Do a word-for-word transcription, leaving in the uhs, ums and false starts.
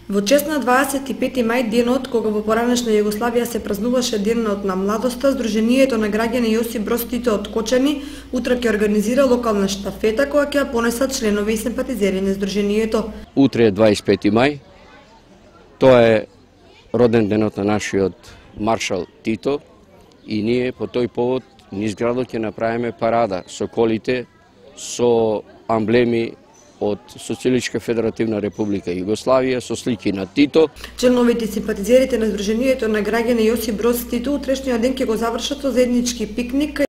Во чест на дваесет и пети мај, денот кога во поранешна Југославија се празнуваше Денот на младоста, Сдруженијето на граѓани Јосип Броз Тито од Кочани утре ќе организира локална штафета која ќе ја понесат членови и симпатизери на Сдруженијето. Утре е дваесет и пети мај. Тоа е роден денот на нашиот маршал Тито и ние по тој повод низ градот ќе направиме парада со колите, со амблеми од Социјалистичка Федеративна Република Југославија со слики на Тито. Членовите и симпатизерите на Сдруженијето на граѓани Јосип Броз Тито утрешниот ден ќе го завршат со заеднички пикник